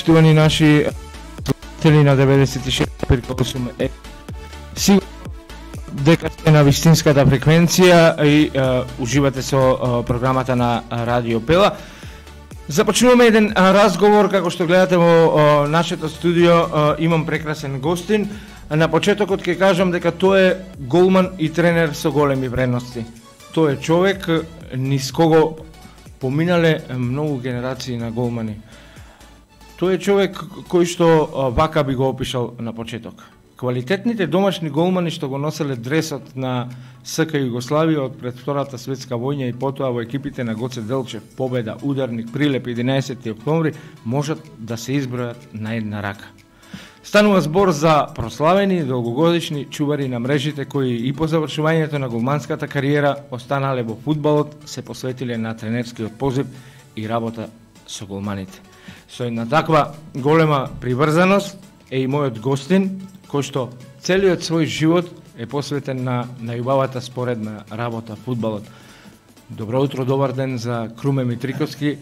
почитувани наши слушатели на 96,8 сигурно дека сте на вистинската фреквенција и уживате со програмата на Радио Пела. Започнуваме еден разговор, како што гледате во нашето студио, имам прекрасен гостин. На почетокот ќе кажам дека тој е голман и тренер со големи вредности. Тој е човек низ кого поминале многу генерации на голмани. Тој е човек кој што вака би го опишал на почеток. Квалитетните домашни голмани што го носеле дресот на СК Југославија од пред Втората светска војна и потоа во екипите на Гоце Делчев, Победа, Ударник, Прилеп 11 октомври можат да се избројат на една рака. Станува збор за прославени долгогодишни чувари на мрежите кои и по завршувањето на голманската кариера останале во фудбалот, се посветиле на тренерскиот позив и работа со голманите. Со една таква голема приврзаност е и мојот гостин, кој што целиот свој живот е посветен на најубавата споредна работа, фудбалот. Добро утро, добар ден за Круме Митриковски,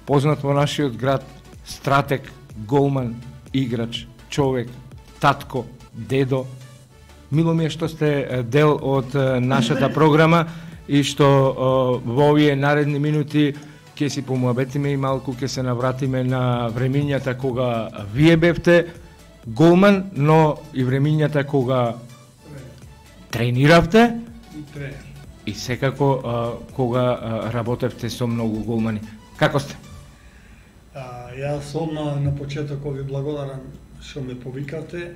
познат во нашиот град, стратег, голман, играч, човек, татко, дедо. Мило ми е што сте дел од нашата програма и што во овие наредни минути ќе си помуабетиме и малку ќе се навратиме на времињата кога вие бевте голман, но и времињата кога трениравте и секако кога работевте со многу голмани. Како сте? Јас одма на почеток ви благодарам што ме повикате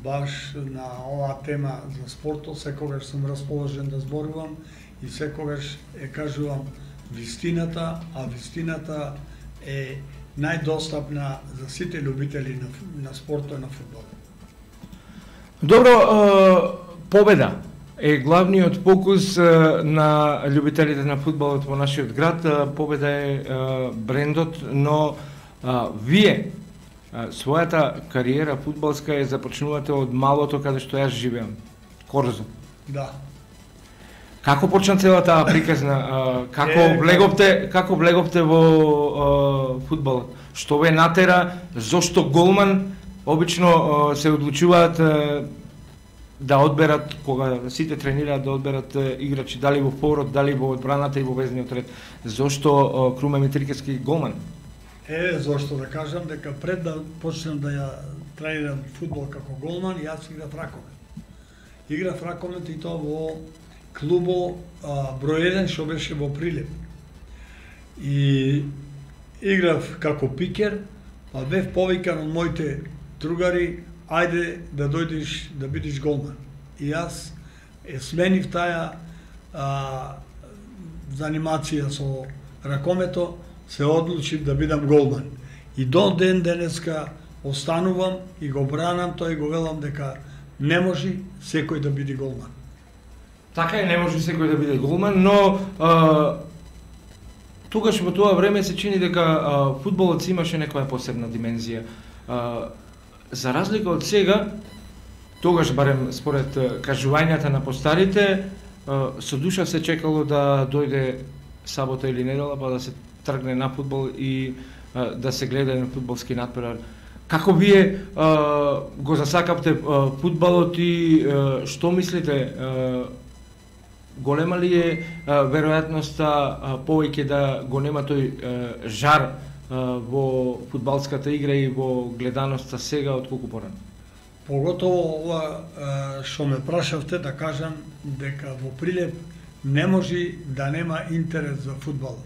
баш на оваа тема за спортот. Секогаш сум расположен да зборувам и секогаш кажувам вистината, а вистината е најдостапна за сите љубители на спортот и на фудбалот. Добро, Победа е главниот фокус на љубителите на фудбалот во нашиот град. Победа е брендот, но вие својата кариера фудбалска е започнувате од малото каде што јас живеам, Корзо. Да. Како почна целата приказна? Како влеговте во фудбалот? Што ве натера? Зошто голман? Обично се одлучуваат да одберат, кога сите тренираат, да одберат играчи дали во форот, дали во одбраната и во везниот ред. Зошто Круме Митрикевски голман? Зошто да кажам дека пред да почнам да ја тренирам фудбал како голман, јас играв ракомет. Играв ракомет и тоа во клубо број 1 што беше во Прилеп. И играв како пикер, па бев повикан од моите другари, ајде да дојдеш да бидеш голман. И јас сменив таа занимација со ракомето, се одлучив да бидам голман. И до ден денеска останувам и го бранам тоа и го велам дека не може секој да биде голман. Така е, не може секој да биде голман, но тогаш во тоа време се чини дека фудбалот си имаше некоја посебна димензија. За разлика од сега, тогаш барем според кажувањата на постарите, со душа се чекало да дојде сабота или недела па да се тргне на фудбал и да се гледа на фудбалски надпревар. Како вие го засакавте фудбалот и што мислите? Голема ли е веројатноста повеќе да го нема тој жар во фудбалската игра и во гледаноста сега отколку порано? Поготово ова што ме прашавте, да кажам дека во Прилеп не може да нема интерес за фудбалот.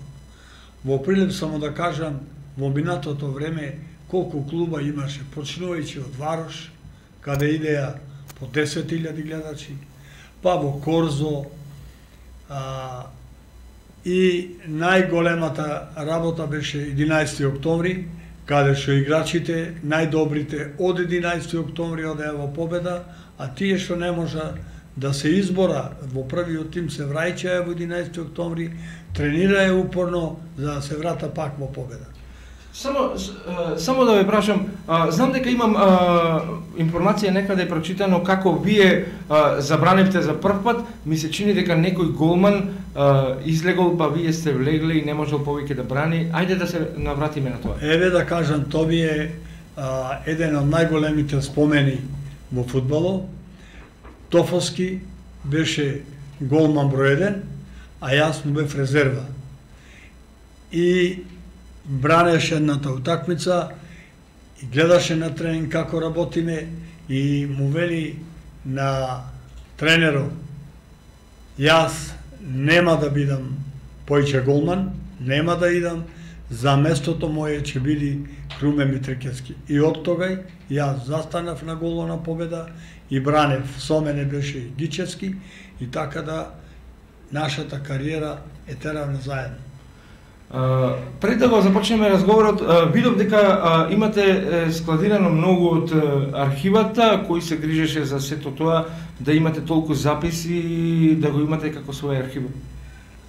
Во Прилеп само да кажам, во минатото време колку клуба имаше, почнувајќи од Варош, каде идеја по 10.000 гледачи, па во Корзо, и најголемата работа беше 11 октомври, каде што играчите, најдобрите од 11 октомври одеа во Победа, а тие што не можа да се избора во првиот тим се враќаја во 11 октомври, тренирае упорно за да се врата пак во Победа. Само да ве прашам, знам дека имам информација некаде прочитано како вие забранивте за прв пат, ми се чини дека некој голман излегол, па вие сте влегле и не можел повеќе да брани. Ајде да се навратиме на тоа. Еве да кажам, тоа ми е еден од најголемите спомени во фудбалот. Тофовски беше голман број 1, а јас му бев резерва. И бранеше едната утакмица и гледаше на тренинг како работиме и му вели на тренерот: јас нема да бидам поиќе голман, нема да идам, за местото моје ќе биде Круме Митрикевски. И од тогај јас застанав на голмана победа и бранев. Со мене беше и Гичевски и така да нашата кариера е теравна заедно. Пред да го започнеме разговорот, видов дека имате складирано многу од архивата, кој се грижеше за сето тоа, да имате толку записи, да го имате како своја архива.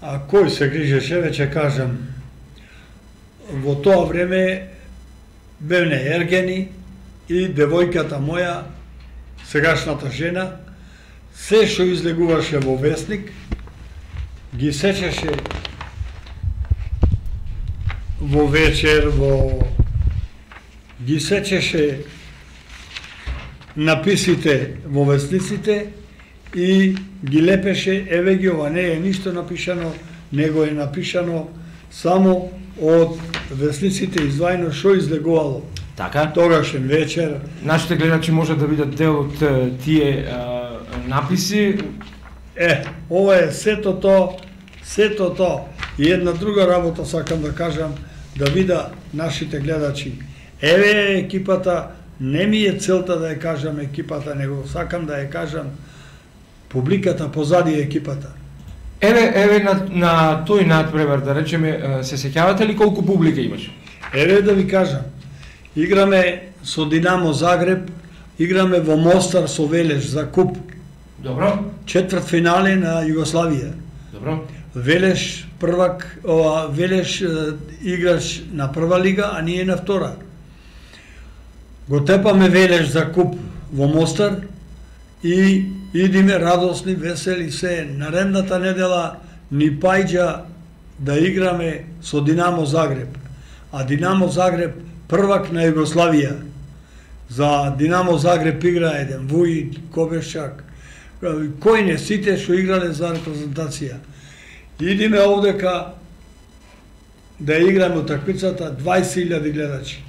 А кој се грижеше, веќе кажам, во тоа време бевне Ергени и девојката моја, сегашната жена, се што излегуваше во весник, ги сечеше во вечер, ги сечеше написите во весниците и ги лепеше. Еве ги, ова не е ништо напишано, него е напишано само од весниците издвајно што излегувало. Така? Тогашен вечер. Нашите гледачи можат да видат дел од тие написи. Ова е сето тоа. И една друга работа сакам да кажам, да вида нашите гледачи. Еве екипата, не ми е целта да ја кажам екипата, него сакам да ја кажам публиката позади екипата. Еве на тој надпревар, да речеме, се сеќавате ли колку публика имаш? Еве да ви кажам, играме со Динамо Загреб, играме во Мостар со Велеш за куп. Добро. Четврт финале на Југославија. Добро. Велеш првак, Велеш играч на прва лига, а ние на втора. Го тепаме Велеш за куп во Мостар и идиме радосни, весели се. Наредната недела ни пајџа да играме со Динамо Загреб. А Динамо Загреб првак на Југославија. За Динамо Загреб игра еден Вујид, Кобешак, кој не, сите што играле за репрезентација. Идиме овдека да играме утакмицата 20.000 гледачи.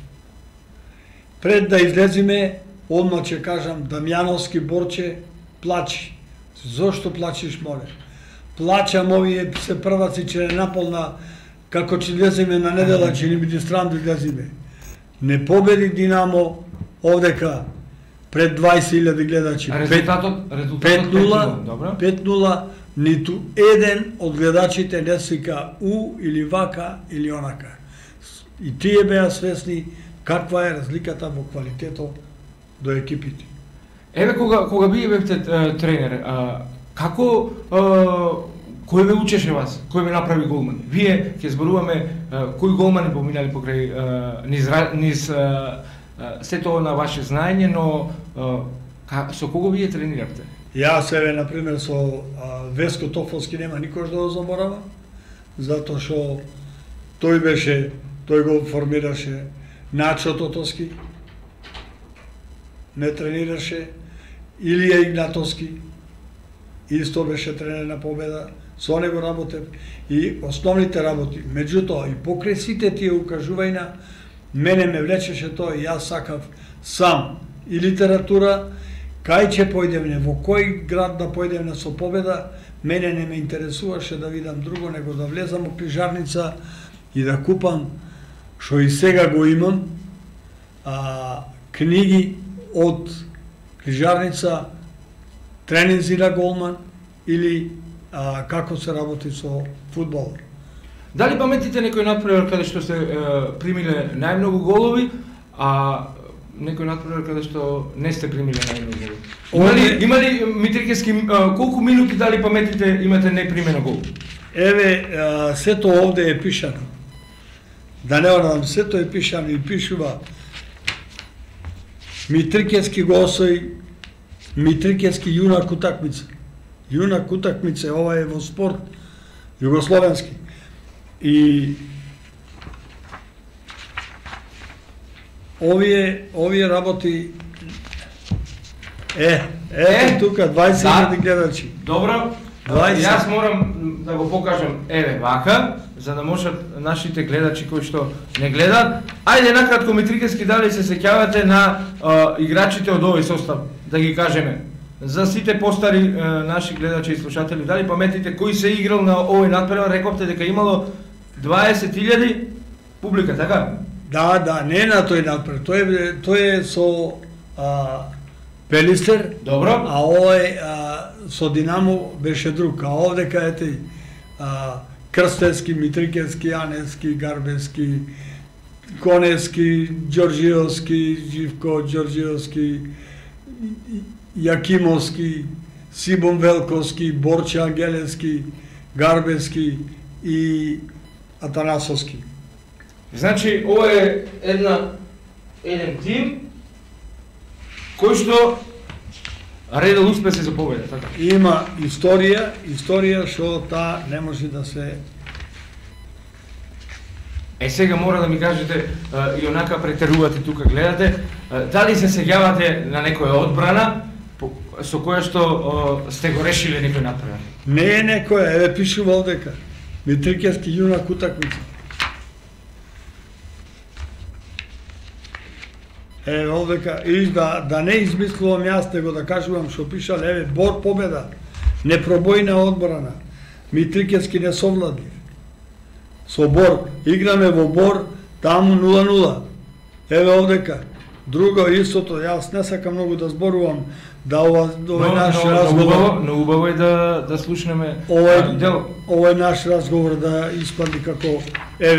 Пред да излезиме, одма ќе кажам, Дамјановски Борче плачи. Зошто плачиш, моле? Плачам, овие се прваци, че не наполна, како ќе излезиме на недела, ќе ни биде стран да излезиме. Не победи Динамо овдека пред 20.000 гледачи. А резултатот 5-0, ниту еден од гледачите не сика у или вака или онака. И тие беа свесни каква е разликата во квалитетот до екипите. Еве кога вие бевте тренер, како кој ве учеше вас? Кој ве направи голман? Вие ќе зборуваме кои голмани поминали покрај низ се тоа на ваше знаење, но со кого вие трениравте? Јас еве на пример со Веско Тофовски нема никош да го заборавам, затоа што тој го формираше. Начо Тотоски ме тренираше, Илија Игнатовски исто беше тренер на Победа, со него работев и основните работи. Меѓутоа и покрај сите тие укажувања мене ме влечеше тоа и јас сакав сам и литература, кај ќе појдеме, во кој град да појдеме со Победа, мене не ме интересуваше да видам друго, него да влезам во книжарница и да купам, што и сега го имам, книги од книжарница, тренинзи на голман или како се работи со фудбал. Дали паметите некој надпревар каде што сте примиле најмногу голови, а некој надпревар каде што не сте примиле најмногу голови? Има ли Митрикевски, колку минути дали паметите имате непримено гол? Еве, сето овде е пишано. да не орадам се, тој пишам и пишува Митрикевски го освои, Митрикевски јунак утакмица. Јунак утакмица, ова е во спорт југословенски. И овие работи тука 20.000 гледачи. Добро. 20. Јас морам да го покажам вака, за да можат нашите гледачи кои што не гледат. Ајде накратко Митрикевски, дали се сеќавате на играчите од овој состав, да ги кажеме. За сите постари наши гледачи и слушатели, дали паметите кој се играл на овој надпревар, рековте дека имало 20.000 публика, така? Да, не на тој надпревар, тој е со Пелистер. Добро. А овој со Динамо беше друг, а овдека ете Крстевски, Митрикевски, Јаневски, Гарбевски, Коневски, Ѓорџиевски, Живко Ѓорџиевски, Јакимовски, Сибон Велковски, Борче Ангелевски, Гарбевски и Атанасовски. Значи, ова е еден тим кој што редел успеси за победа, така? Има историја што таа не може да се... Сега мора да ми кажете, и онака претерувате тука, гледате, дали се сеќавате на некоја одбрана со која што сте го решиле некој надпревар? Не е некоја, пишува овдека. Митрикевски јунак утакмица. Овдека, и да не измислувам јас, него да кажувам што пишал, Бор победа, непробојна одбрана, Митрикевски не совладлив. Со Бор, играме во Бор, таму 0-0. Овдека, друго истото, јас не сакам многу да зборувам, да овој наш разговор... Но убаво е да слушнеме дел. Овој наш разговор да испадни како,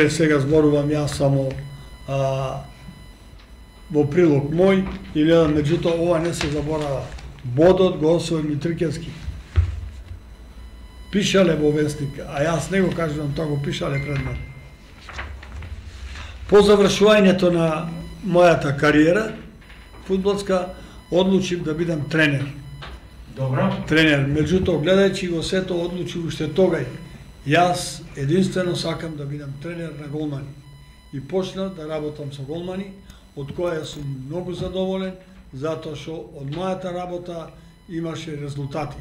сега зборувам јас само во прилог мој, или меѓутоа ова не се заборава. Бодот го освои Митрикевски. Пишале во вестник, а јас не го кажувам, тоа го пишале пред мен. По завршувањето на мојата кариера фудбалска, одлучив да бидам тренер. Добро. Тренер, меѓутоа гледајќи го сето, одлучив уште тогај. Јас единствено сакам да бидам тренер на голмани. И почнав да работам со голмани, од која сум многу задоволен, затоа што од мојата работа имаше резултати.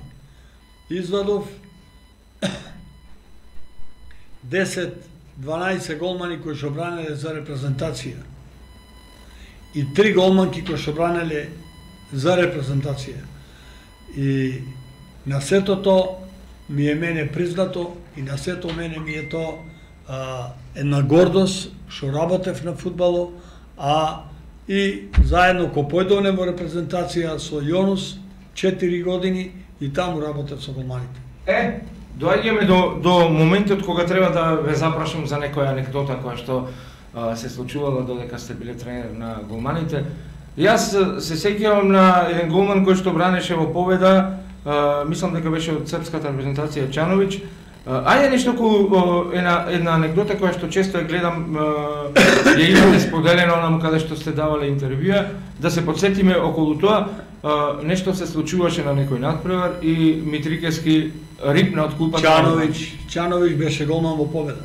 Извадов 10-12 голмани кои што бранеле за репрезентација и 3 голманки кои што бранеле за репрезентација. И на сето ми е мене признато и на сето мене ми е една гордост што работев на фудбало, а и заедно ко појдовне во репрезентација со Јонус 4 години и таму работев со голманите. Доаѓаме до моментот кога треба да ве запрашам за некоја анекдота која што се случувала додека сте биле тренер на голманите. Јас се сеќавам на еден голман кој што бранеше во победа, мислам дека беше од српската репрезентација Чановиќ. Ајде нешто една анекдота која што често ја гледам, ја имате споделено онаму каде што сте давале интервјуа, да се подсетиме околу тоа, нешто се случуваше на некој надпревар и Митрикевски рипна од кулпата. Чановиќ беше голман во победа.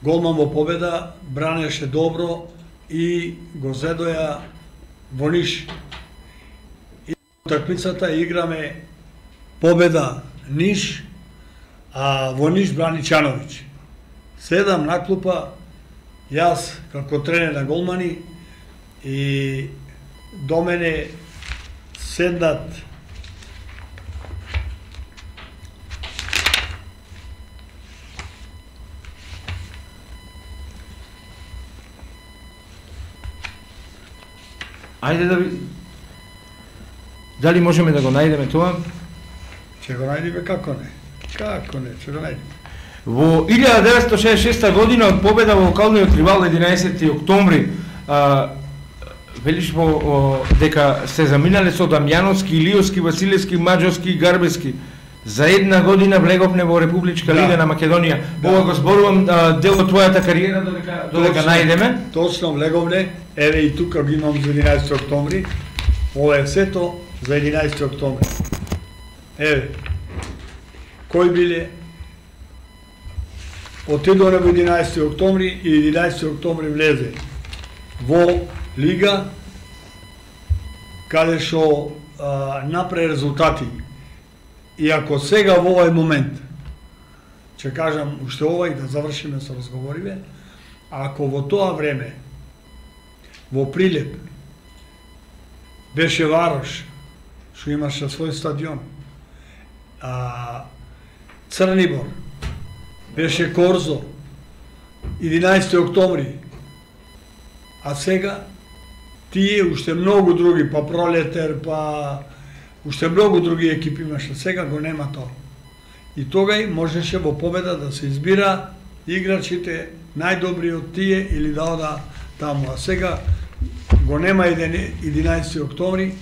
Голман во победа, бранеше добро и го зедоја во Ниш. И утакмицата играме победа Ниш, а во Ниш брани Чановиќ. Седам на клупа, јас како тренер на голмани и до мене седнат Ајде да дали можеме да го најдеме тоа? Ќе го најдеме, како не, ќе го најдеме. Во 1966 година од победа во локалниот ривал 11 октомври, велиш дека се заминале со Дамјановски, Илиовски, Василевски, Маџовски и Гарбевски. За една година влеговме во Републичка лига на Македонија. Ова го зборувам дел од твојата кариера додека најдеме. Точно влеговне. Еве и тука го имам за 11 октомври. Ова е сето за 11 октомври. Еве. Кој биле? Отидоме во 11 октомври и 11 октомври влезе во лига каде што направи резултати. И ако сега во овој момент, ќе кажам уште ова и да завршиме со разговориве, ако во тоа време, во Прилеп, беше Варош, што имаше свој стадион, Црнибор, беше Корзо, 11 октомври, а сега тие уште многу други, па Пролетер, па уште многу други екипи имаше, сега го нема тоа. И тогај можеше во победа да се избира играчите најдобри од тие или да ода таму. А сега го нема 11 октомври,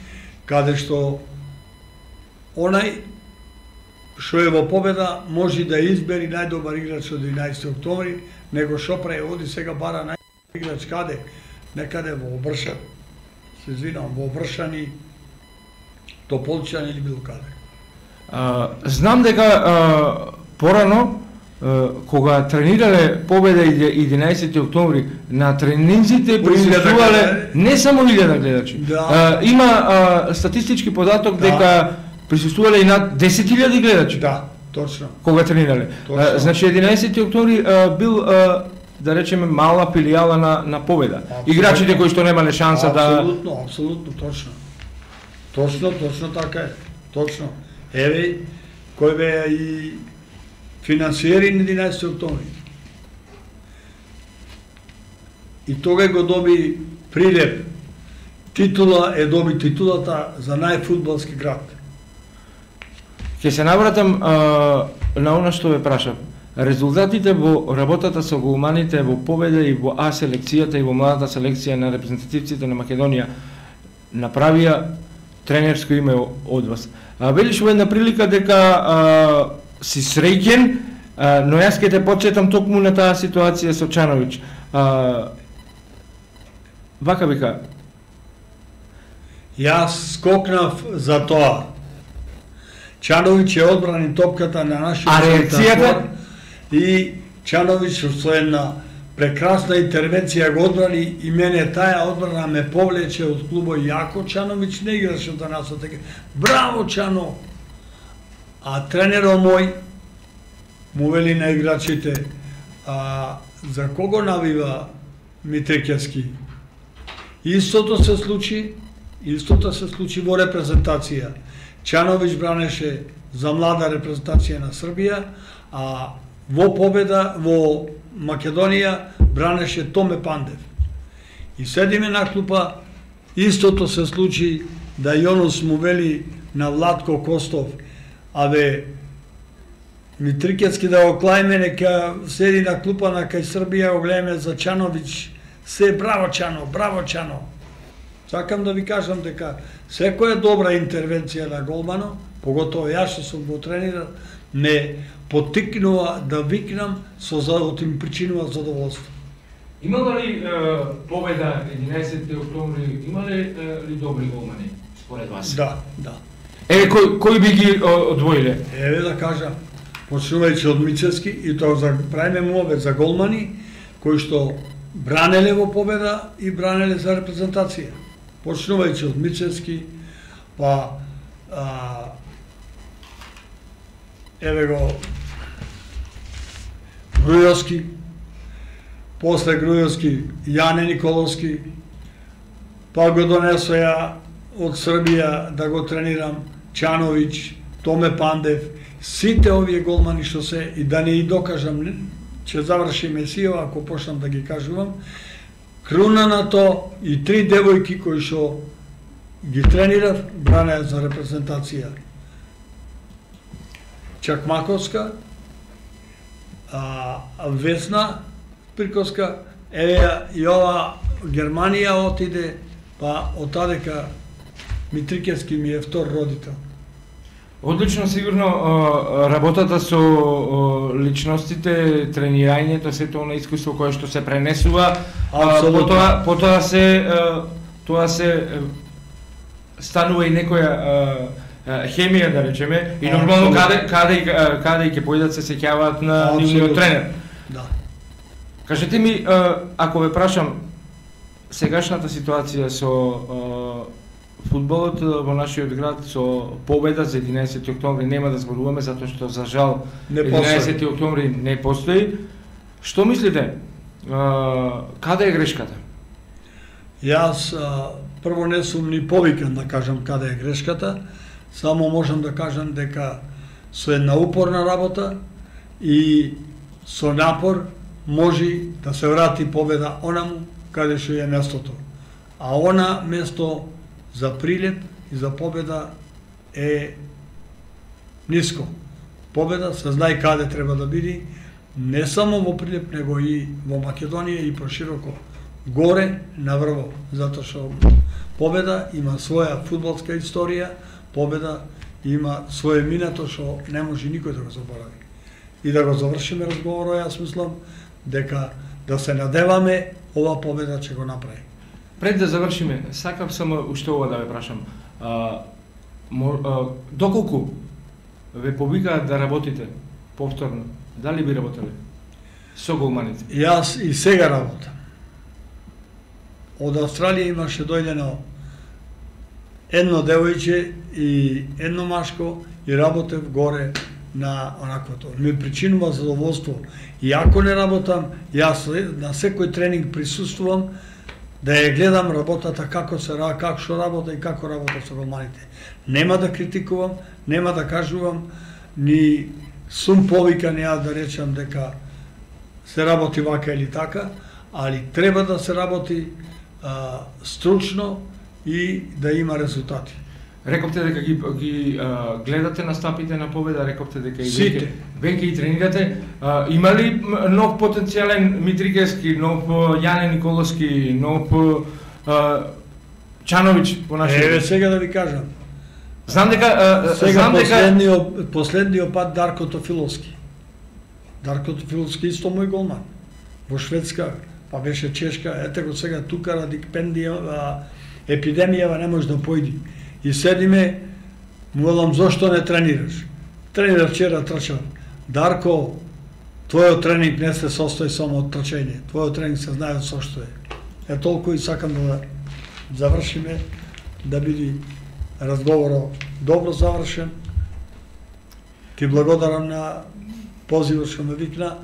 каде што онај што е во победа може да избери најдобар играч од 11 октомври, него што прави, оди сега бара најдобар играч каде? Некаде во Обршан. Се извинам, во Обршани, Тополчан или било каде. Знам дека порано, кога тренирале победа 11 октомври, на тренинзите присуствувале не само 1000 гледачи. Да. Има статистички податок дека присуствувале и над 10.000 гледачи. Да, точно. Кога тренирале. Точно. Значи 11 октомври бил да речеме мала филијала на победа. Абсолютно. Играчите кои што немале шанса Апсолутно, точно. Точно така е. Точно. Еве, кој беа и финансиери на 11 октомври. И тога го доби Прилеп. Доби титулата за најфудбалски град. Ќе се навратам на она што ве прашав. Резултатите во работата со голманите во победа и во А селекцијата и во младата селекција на репрезентативците на Македонија направија тренерско име од вас. Велиш во една прилика дека си среќен, но јас ќе те потсетам токму на таа ситуација со Чановиќ. Вака вика. Јас скокнав за тоа. Чановиќ е одбрани топката на нашиот реакцијата и Чановиќ со една прекрасна интервенција го одбрани и мене таа одбрана ме повлече од клубот. Јако Чановиќ не играше за нас, така. Браво Чано! А тренерот мој му вели на играчите, за кого навива Митрикевски? Истото се случи во репрезентација. Чановиќ бранеше за млада репрезентација на Србија, а во победа во Македонија бранеше Томе Пандев. И седиме на клупа, истото се случи да Јонус му вели на Владко Костов, абе, Митрикевски да го клајме, нека седи на клупа на кај Србија, го гледаме за Чановиќ, се браво Чано, браво Чано. Сакам да ви кажам дека секоја добра интервенција на голмано, поготово јас што сум го тренирал, ме потикнува да викнам од им причинува задоволство. Имала ли победа 11 октомври, имале ли добри голмани според вас? Да. Кој би ги одвоиле? Еве да кажам, почнувајќи од Мицевски и тоа правиме муабет за голмани кои што бранеле во победа и бранеле за репрезентација. Почнувајќи од Мицевски, па еве го Грујовски, после Грујовски Јане Николовски, па го донесоја од Србија да го тренирам Чановиќ, Томе Пандев, сите овие голмани што се, и да не и докажам, ќе завршиме сија, ако почнам да ги кажувам, круна на то и 3 девојки кои што ги тренирав, бранеа за репрезентација. Чакмаковска, Весна Приковска, и ова Германија отиде, па од тадека Митрикевски ми е втор родител. Одлично, сигурно работата со личностите, тренирањето, сето она искуство кое што се пренесува, потоа се станува и некоја хемија, да речеме, и нормално каде ќе појдат се сеќаваат на нивниот тренер. Да. Кажете ми, ако ве прашам, сегашната ситуација со фудбалот во нашиот град со победа за 11 октомври нема да зборуваме затоа што за жал 11 октомври не постои. Што мислите? Каде е грешката? Јас прво не сум ни повикан да кажам каде е грешката, само можам да кажам дека со една упорна работа и со напор може да се врати победа онаму каде што е местото. А она место за прилеп и за победа е ниско. Победа се знае каде треба да биде, не само во Прилеп, него и во Македонија и прошироко горе на врво, затоа што победа има своја фудбалска историја, победа има свое минато што не може никој да го заборави. И да го завршиме разговорот, јас мислам дека да се надеваме ова победа ќе го направи. Пред да завршиме, сакав само уште ова да ве прашам. Доколку ве повикаат да работите повторно, дали би работеле со голманите? Јас и сега работам. Од Австралија имаше дојдено едно девојче и едно машко и работев горе на онаквото. Ми причинува задоволство. И ако не работам, јас на секој тренинг присуствувам да ја гледам работата како што работа и како работа со голманите. Нема да критикувам, нема да кажувам, ни сум повикан ја да речам дека се работи вака или така, али треба да се работи стручно и да има резултати. Рековте дека ги гледате настапите на победа, рековте дека и веќе и тренирате. Има ли нов потенцијален Митрикевски, нов Јане Николовски, нов Чановиќ по нашиот? Еве сега да ви кажам. Знам дека последниот пат Дарко Тофиловски. Дарко Тофиловски исто мој голман. Во Шведска, па беше Чешка, ете го сега тука ради епидемијава не може да појди. И седиме, му велам, зошто не тренираш? Тренирав вчера, трчав. Дарко, твојот тренинг не се состои само од трчање. Твојот тренинг се знае со што е. Е толку и сакам да завршиме, да биде разговорот добро завршен. Ти благодарам на позивот што ме викна.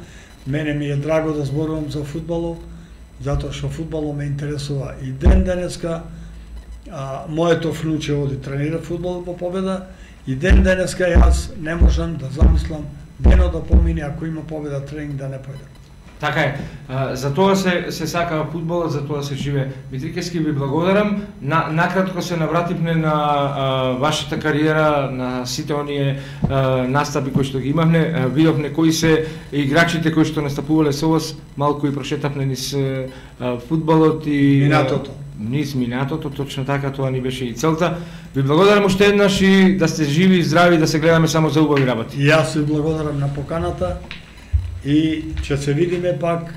Мене ми е драго да зборувам за фудбалот, затоа што фудбалот ме интересува и ден денеска. Моето внуче оди тренира фудбал во победа и ден денеска јас не можам да замислам денот да помине ако има победа тренинг да не појде. Така е. За тоа се сакава фудбалот, за тоа се живее. Митрикевски, ви благодарам. Накратко се навративме на вашата кариера, на сите оние настапи кои што ги имавме. Видовме кои се играчите кои што настапувале со вас, малку и прошетавме низ фудбалот и минатото. Низ минатото, точно така, тоа ни беше и целта. Ви благодарам уште еднаш и да сте живи и здрави, да се гледаме само за убави работи. И јас ви благодарам на поканата и ќе се видиме пак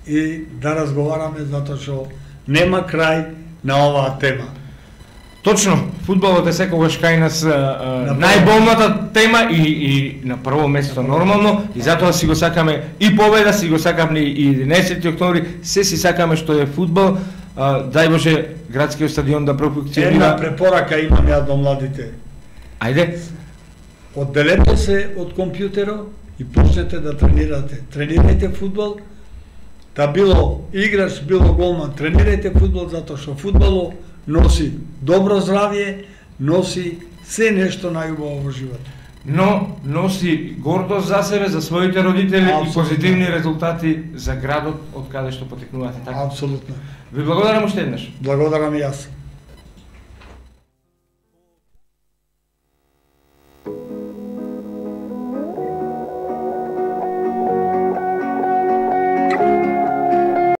и да разговараме, затоа што нема крај на оваа тема. Точно, фудбалот е секогаш кај нас најболната тема и на прво место нормално, и затоа си го сакаме и победа, си го сакаме и 11 октомври, се си сакаме што е фудбал. Дај Боже градскиот стадион да профункционира. Една препорака имам ја до младите. Ајде. Одделете се од компјутерот и почнете да тренирате. Тренирајте фудбал, да било играч, било голман, тренирајте фудбал, затоа што фудбалот носи добро здравје, носи се нешто најубаво во животот. Но носи гордост за себе, за своите родители. Абсолютно. И позитивни резултати за градот од каде што потекнувате. Така? Апсолутно. Ви благодарам уште еднаш. Благодарам и јас.